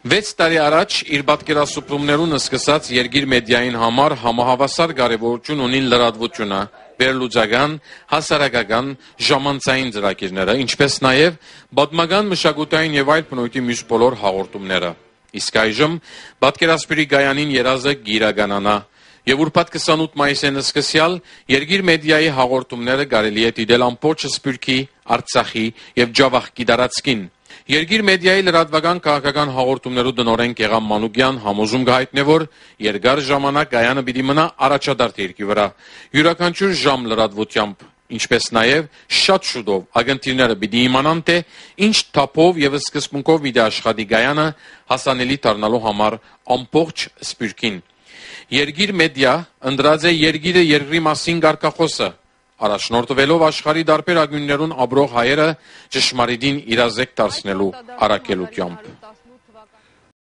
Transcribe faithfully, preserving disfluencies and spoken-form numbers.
վեց տարի առաջ իր պատկերասրբումներուն սկսած երկիր մեդիային համար համահավասար կարևորություն ունին լրատվությունը, վերլուծական, հասարակական, ժամանցային ծրագիրները, ինչպես նաև պատմական, մշակութային եւ այլ բնույթի մյուս բոլոր հաղորդումները։ Իսկ այժմ պատկերասրբի գայանին երազը գիրականանա եւ ուրբաթ քսանութ մայիսին սկսյալ երկիր մեդիայի հաղորդումները կարելի է դիտել ամբողջ Սփյուռքի, Արցախի եւ Ջավախքի տարածքին։ Երկիր մեդիայի լրատվական քաղաքական հաղորդումներու տնօրեն Գեգամ Մանուկյան համոզում կհայտնի, որ երկար ժամանակ գայանը պիտի մնա առաջադարձ երկրի վրա։ Յուրաքանչյուր ժամ լրատվությամբ, ինչպես նաև շատ շուտով ագնտիրները պիտի իմանան, թե ինչ թափով եւ սկզբունքով պիտի աշխատի գայանը հասանելի դառնալու համար ամբողջ Սփյուռքին։ Երկիր մեդիա ընդրած է երկիրը երկրի մասին կարգախոսը, առաջնորդվելով աշխարհի տարբեր ագյուններուն ապրող հայերը ճշմարիտին իրազեկ դարձնելու առաքելությամբ։